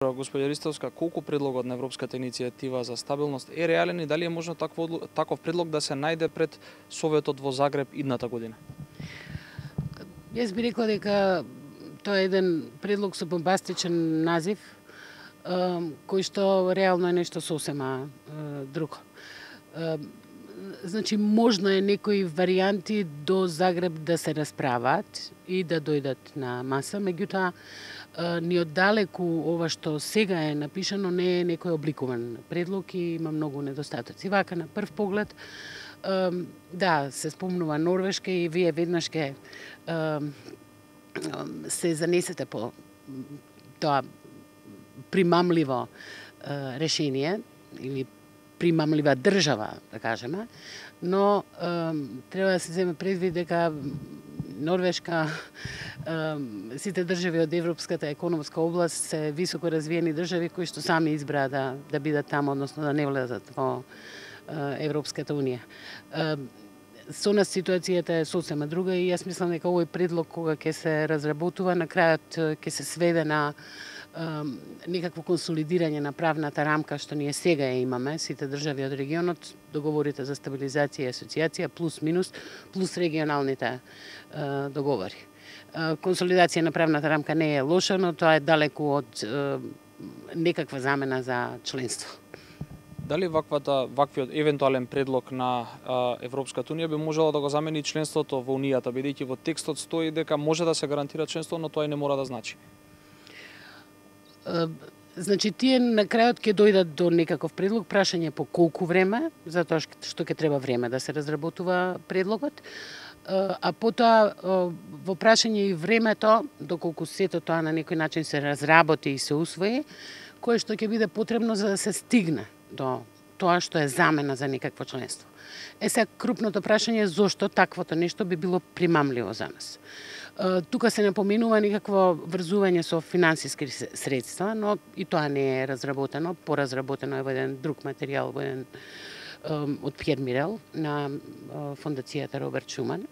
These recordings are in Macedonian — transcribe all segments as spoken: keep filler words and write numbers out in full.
Господја Ристовска, колку предлогот на Европската иницијатива за стабилност е реален и дали е можно таков, таков предлог да се најде пред Советот во Загреб идната година? Јас би рекла дека тоа е еден предлог со бомбастичен назив, кој што реално е нешто сосема друго. Значи, можно е некои варијанти до Загреб да се расправат и да дојдат на маса, меѓутоа ни оддалеку ова што сега е напишано не е некој обликуван предлог и има многу недостатоци. Вака на прв поглед, да, се спомнува Норвешка и вие веднаш ке се занесете по тоа примамливо решение или примамлива држава, да кажеме, но е, треба да се земе предвид дека Норвешка, е, сите држави од Европската економска област се високо развиени држави кои што сами избраа да, да бидат таму, односно да не влезат во е, Европската унија. Е, со нас ситуацијата е сосема друга и јас мислам дека овој предлог кога ќе се разработува на крајот ќе се сведе на некакво консолидирање на правната рамка што ние сега ја имаме, сите држави од регионот, договорите за стабилизација и асоциација, плюс минус, плюс регионалните е, договори. Е, консолидација на правната рамка не е лоша, но тоа е далеку од е, некаква замена за членство. Дали ваквата, ваквиот евентуален предлог на а, Европската унија би можело да го замени членството во Унијата, бидејќи во текстот стои дека може да се гарантира членство, но тоа и не мора да значи? Значи, тие на крајот ќе дојдат до некаков предлог, прашање по колку време, затоа што ќе треба време да се разработува предлогот, а потоа во прашање и времето, доколку сето тоа на некој начин се разработи и се усвои, кое што ќе биде потребно за да се стигне до тоа што е замена за некакво членство. Е сега крупното прашање е зошто таквото нешто би било примамливо за нас. Тука се напоменува некакво врзување со финансиски средства, но и тоа не е разработено, поразработено е во еден друг материјал, во еден од Пјер Мирел на фондацијата Роберт Шуман,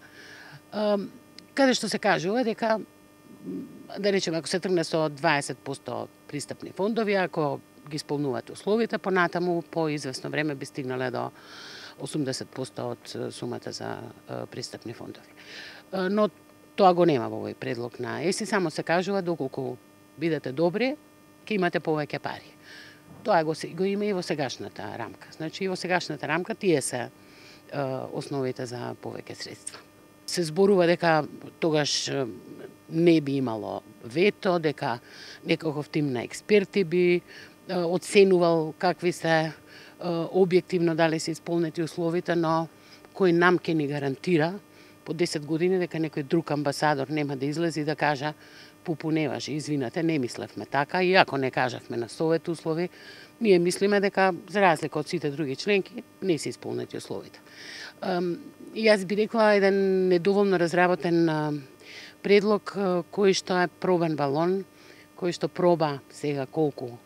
каде што се кажува дека, да речеме, ако се тргне со дваесет проценти пристапни фондови, ако ги исполнуваат условите, понатаму по известно време би стигнале до осумдесет проценти од сумата за пристапни фондови. Но тоа го нема во овој предлог на ЕСИ, само се кажува доколку бидете добри, ќе имате повеќе пари. Тоа го, го има и во сегашната рамка. Значи и во сегашната рамка тие се е, основите за повеќе средства. Се зборува дека тогаш не би имало вето, дека некаков тим на експерти би е, оценувал какви се е, објективно дали се исполнети условите, но кој нам ќе ни гарантира по десет години дека некој друг амбасадор нема да излезе и да кажа пупуневаш, извинете, не мислевме така, и ако не кажавме на совет услови, ние мислиме дека за разлика од сите други членки не се исполнети условите. И јас би рекла еден недоволно разработен предлог кој што е пробен балон, кој што проба сега колку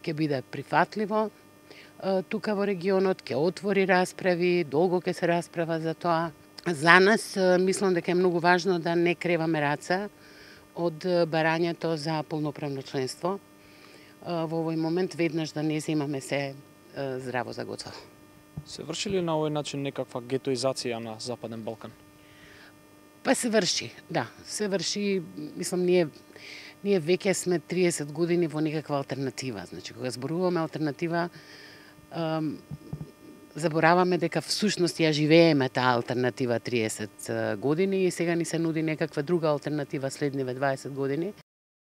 ќе биде прифатливо тука во регионот, ќе отвори расправи, долго ќе се расправа за тоа. За нас, мислам дека е многу важно да не креваме раца од барањето за полноправно членство. Во овој момент веднаш да не земаме се здраво за готово. Се врши ли на овој начин некаква гетоизација на Западен Балкан? Па се врши, да. Се врши, мислам, ние, ние веќе сме триесет години во некаква алтернатива. Значи, кога зборуваме алтернатива, забораваме дека всушност ја живееме таа алтернатива триесет години и сега ни се нуди некаква друга алтернатива следниве дваесет години.